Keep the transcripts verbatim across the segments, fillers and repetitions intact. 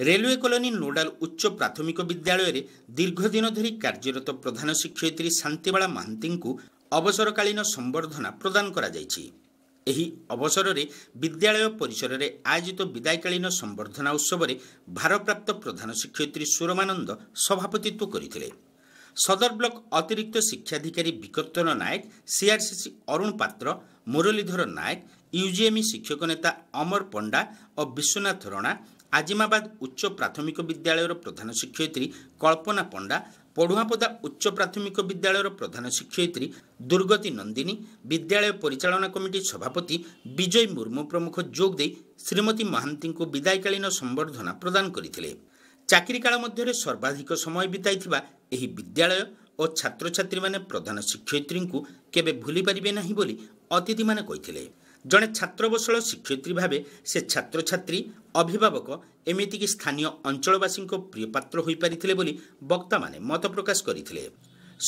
Railway colony nodal ଉଚ୍ଚ ପ୍ରାଥମିକ ବିଦ୍ୟାଳୟରେ ଦୀର୍ଘଦିନ ଧରି କାର୍ଯ୍ୟରତ ପ୍ରଧାନ ଶିକ୍ଷୟିତ୍ରୀ ଶାନ୍ତିବାଳା ମହାନ୍ତିଙ୍କୁ ଅବସରକାଳୀନ ସମ୍ବର୍ଦ୍ଧନା ପ୍ରଦାନ କରାଯାଇଛି। ଏହି ଅବସରରେ ବିଦ୍ୟାଳୟ ପରିସରରେ ଆୟୋଜିତ ବିଦାୟକାଳୀନ ସମ୍ବର୍ଦ୍ଧନା ଉତ୍ସବରେ ଭାରପ୍ରାପ୍ତ ପ୍ରଧାନ ଶିକ୍ଷୟିତ୍ରୀ ସୁରମାନନ୍ଦ ସଭାପତିତ୍ୱ କରିଥିଲେ। ସଦର ବ୍ଲକ ଅତିରିକ୍ତ ଶିକ୍ଷାଧିକାରୀ ବିକର୍ତ୍ତନ ନାୟକ, ସିଆର୍ସିସି ଅରୁଣ ପାତ୍ର, ମୁରଲୀଧର ନାୟକ, ୟୁଜିଏମ୍ଇ ଶିକ୍ଷକ ନେତା ଅମର ପଣ୍ଡା ଓ ବିଶ୍ୱନାଥ ରଣା, ଆଜିମାବାଦ ଉଚ୍ଚ ପ୍ରାଥମିକ ବିଦ୍ୟାଳୟର ପ୍ରଧାନ ଶିକ୍ଷୟିତ୍ରୀ କଳ୍ପନା ପଣ୍ଡା, ପଢୁଆଁପଦା ଉଚ୍ଚ ପ୍ରାଥମିକ ବିଦ୍ୟାଳୟର ପ୍ରଧାନ ଶିକ୍ଷୟିତ୍ରୀ ଦୁର୍ଗତି ନନ୍ଦିନୀ, ବିଦ୍ୟାଳୟ ପରିଚାଳନା କମିଟି ସଭାପତି ବିଜୟ ମୁର୍ମୁ ପ୍ରମୁଖ ଯୋଗ ଦେଇ ଶ୍ରୀମତୀ ମହାନ୍ତିଙ୍କୁ ବିଦାୟକାଳୀନ ସମ୍ବର୍ଦ୍ଧନା ପ୍ରଦାନ କରିଥିଲେ। ଚାକିରି କାଳ ମଧ୍ୟରେ ସର୍ବାଧିକ ସମୟ ବିତାଇଥିବା ଏହି ବିଦ୍ୟାଳୟ ଓ ଛାତ୍ରଛାତ୍ରୀମାନେ ପ୍ରଧାନ ଶିକ୍ଷୟିତ୍ରୀଙ୍କୁ କେବେ ଭୁଲି ପାରିବେ ନାହିଁ ବୋଲି ଅତିଥିମାନେ କହିଥିଲେ। ଜଣେ ଛାତ୍ରବତ୍ସଳ ଶିକ୍ଷୟିତ୍ରୀ ଭାବେ ସେ ଛାତ୍ରଛାତ୍ରୀ, ଅଭିଭାବକ, ଏମିତିକି ସ୍ଥାନୀୟ ଅଞ୍ଚଳବାସୀଙ୍କ ପ୍ରିୟପାତ୍ର ହୋଇପାରିଥିଲେ ବୋଲି ବକ୍ତାମାନେ ମତ ପ୍ରକାଶ କରିଥିଲେ।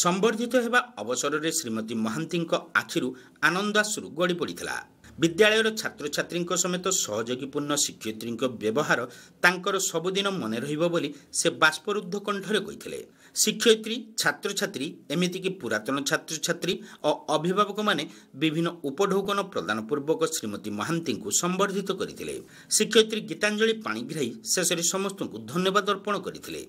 ସମ୍ବର୍ଦ୍ଧିତ ହେବା ଅବସରରେ ଶ୍ରୀମତୀ ମହାନ୍ତିଙ୍କ ଆଖିରୁ ଆନନ୍ଦାଶ୍ରୁ ଗଡ଼ି ପଡ଼ିଥିଲା। ବିଦ୍ୟାଳୟର ଛାତ୍ରଛାତ୍ରୀଙ୍କ ସମେତ ସହଯୋଗୀପୂର୍ଣ୍ଣ ଶିକ୍ଷୟିତ୍ରୀଙ୍କ ବ୍ୟବହାର ତାଙ୍କର ସବୁଦିନ ମନେ ରହିବ ବୋଲି ସେ ବାଷ୍ପରୁଦ୍ଧ କଣ୍ଠରେ କହିଥିଲେ। ଶିକ୍ଷୟିତ୍ରୀ, ଛାତ୍ରଛାତ୍ରୀ, ଏମିତିକି ପୁରାତନ ଛାତ୍ରଛାତ୍ରୀ ଓ ଅଭିଭାବକମାନେ ବିଭିନ୍ନ ଉପଢୌକନ ପ୍ରଦାନ ପୂର୍ବକ ଶ୍ରୀମତୀ ମହାନ୍ତିଙ୍କୁ ସମ୍ବର୍ଦ୍ଧିତ କରିଥିଲେ। ଶିକ୍ଷୟିତ୍ରୀ ଗୀତାଞ୍ଜଳି ପାଣିଗ୍ରାହୀ ଶେଷରେ ସମସ୍ତଙ୍କୁ ଧନ୍ୟବାଦ ଅର୍ପଣ କରିଥିଲେ।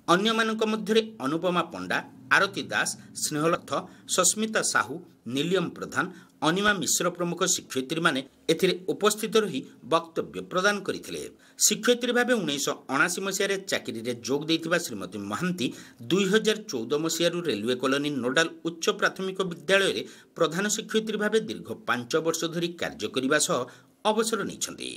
ଅନ୍ୟମାନଙ୍କ ମଧ୍ୟରେ ଅନୁପମା ପଣ୍ଡା, ଆରତୀ ଦାସ, ସ୍ନେହଲଥ, ସସ୍ମିତା ସାହୁ, ନିଲିୟମ ପ୍ରଧାନ, ଅନିମା ମିଶ୍ର ପ୍ରମୁଖ ଶିକ୍ଷୟିତ୍ରୀମାନେ ଏଥିରେ ଉପସ୍ଥିତ ରହି ବକ୍ତବ୍ୟ ପ୍ରଦାନ କରିଥିଲେ। ଶିକ୍ଷୟିତ୍ରୀ ଭାବେ ଉଣେଇଶହ ଅଣାଅଶୀ ମସିହାରେ ଚାକିରିରେ ଯୋଗ ଦେଇଥିବା ଶ୍ରୀମତୀ ମହାନ୍ତି ଦୁଇ ହଜାର ଚଉଦ ମସିହାରୁ ରେଲୱେ କଲୋନୀ ନୋଡାଲ ଉଚ୍ଚ ପ୍ରାଥମିକ ବିଦ୍ୟାଳୟରେ ପ୍ରଧାନ ଶିକ୍ଷୟିତ୍ରୀ ଭାବେ ଦୀର୍ଘ ପାଞ୍ଚ ବର୍ଷ ଧରି କାର୍ଯ୍ୟ କରିବା ସହ ଅବସର ନେଇଛନ୍ତି।